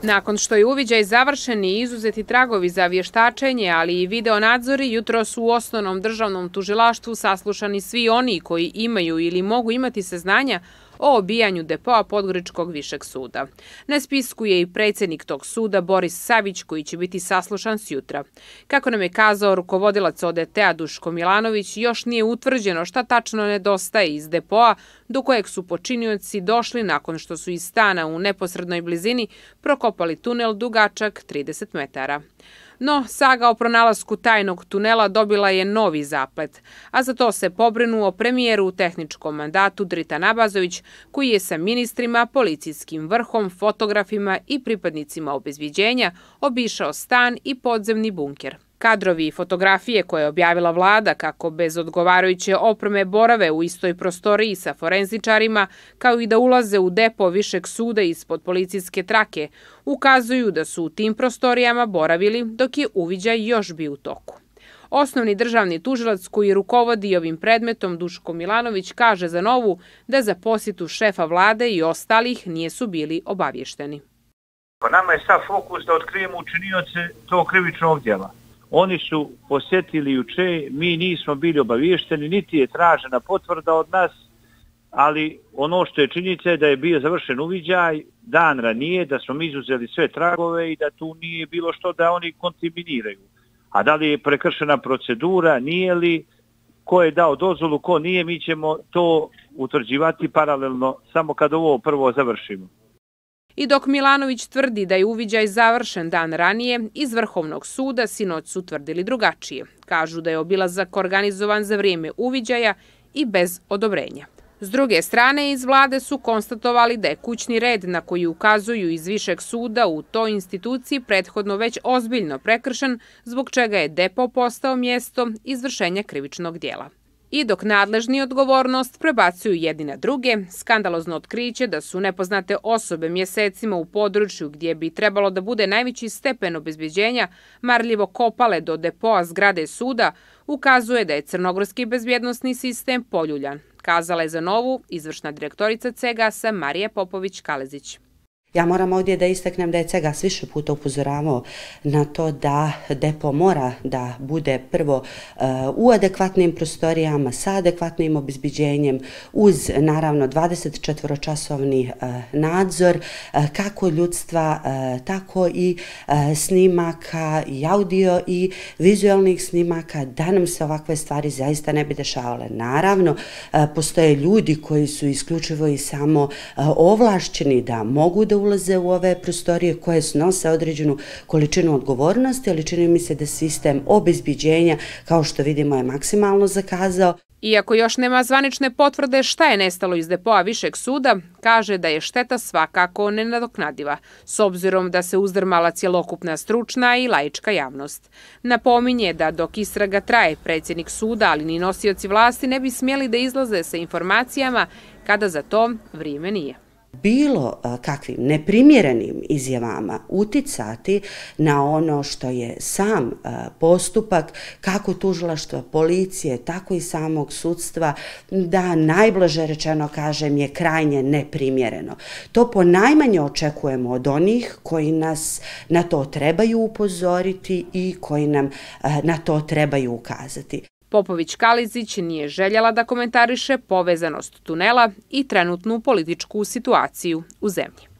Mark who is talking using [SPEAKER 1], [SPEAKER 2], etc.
[SPEAKER 1] Nakon što je uviđaj završen i izuzeti tragovi za vještačenje, ali i videonadzori, jutros u Osnovnom državnom tužilaštvu saslušani svi oni koji imaju ili mogu imati saznanja o obijanju depoa Podgoričkog višeg suda. Na spisku je i predsjednik tog suda Boris Savić, koji će biti saslušan sjutra. Kako nam je kazao rukovodilac ODT-a Duško Milanović, još nije utvrđeno šta tačno nedostaje iz depoa do kojeg su počinioci došli nakon što su iz stana u neposrednoj blizini prokopali tunel dugačak 30 metara. No, saga o pronalasku tajnog tunela dobila je novi zaplet, a za to se pobrinuo premijer u tehničkom mandatu Dritan Abazović, koji je sa ministrima, policijskim vrhom, fotografima i pripadnicima obezbeđenja obišao stan i podzemni bunker. Kadrovi i fotografije koje je objavila vlada kako bez odgovarajuće opreme borave u istoj prostoriji sa forenzičarima, kao i da ulaze u depo višeg suda ispod policijske trake, ukazuju da su u tim prostorijama boravili dok je uviđaj još bio u toku. Osnovni državni tužilac koji rukovodi ovim predmetom Duško Milanović kaže za Novu da za posjetu šefa vlade i ostalih nisu bili obavješteni.
[SPEAKER 2] Pa nama je sav fokus da otkrijemo učinioce tog krivičnog djela. Oni su posjetili juče, mi nismo bili obavješteni, niti je tražena potvrda od nas, ali ono što je činjenica je da je bio završen uviđaj dan ranije, da smo izuzeli sve tragove i da tu nije bilo što da oni kontaminiraju. A da li je prekršena procedura, nije li, ko je dao dozvolu, ko nije, mi ćemo to utvrđivati paralelno samo kad ovo prvo završimo.
[SPEAKER 1] I dok Milanović tvrdi da je uviđaj završen dan ranije, iz Vrhovnog suda sinoć su tvrdili drugačije. Kažu da je obilazak organizovan za vrijeme uviđaja i bez odobrenja. S druge strane, iz vlade su konstatovali da je kućni red na koji ukazuju iz Višeg suda u toj instituciji prethodno već ozbiljno prekršen, zbog čega je depo postao mjesto izvršenja krivičnog djela. I dok nadležni odgovornost prebacuju jedni na druge, skandalozno otkriće da su nepoznate osobe mjesecima u području gdje bi trebalo da bude najveći stepen obezbeđenja marljivo kopale do depoa zgrade suda, ukazuje da je crnogorski bezbjednosni sistem poljuljan, kazala je za Novu izvršna direktorica CEGAS-a Marija Popović-Kalezić.
[SPEAKER 3] Ja moram ovdje da istaknem da je CEGAS više puta upozoravao na to da depo mora da bude prvo u adekvatnim prostorijama, sa adekvatnim obezbeđenjem, uz naravno 24-časovni nadzor kako ljudstva, tako i snimaka i audio i vizualnih snimaka, da nam se ovakve stvari zaista ne bi dešavale. Naravno, postoje ljudi koji su isključivo i samo ovlašćeni da mogu da ulaze u ove prostorije koje snose određenu količinu odgovornosti, ali čini mi se da sistem obezbeđenja, kao što vidimo, je maksimalno zakazao.
[SPEAKER 1] Iako još nema zvanične potvrde šta je nestalo iz depoa Višeg suda, kaže da je šteta svakako nenadoknadiva, s obzirom da se uzdrmala cjelokupna stručna i laička javnost. Napominje da dok istraga traje, predsjednik suda, ali ni nosioci vlasti ne bi smjeli da izlaze sa informacijama kada za to vrijeme nije.
[SPEAKER 3] Bilo kakvim neprimjerenim izjavama uticati na ono što je sam postupak, kako tužilaštva, policije, tako i samog sudstva, da najblaže rečeno kažem je krajnje neprimjereno. To ponajmanje očekujemo od onih koji nas na to trebaju upozoriti i koji nam na to trebaju ukazati.
[SPEAKER 1] Popović-Kalezić nije željela da komentariše povezanost tunela i trenutnu političku situaciju u zemlji.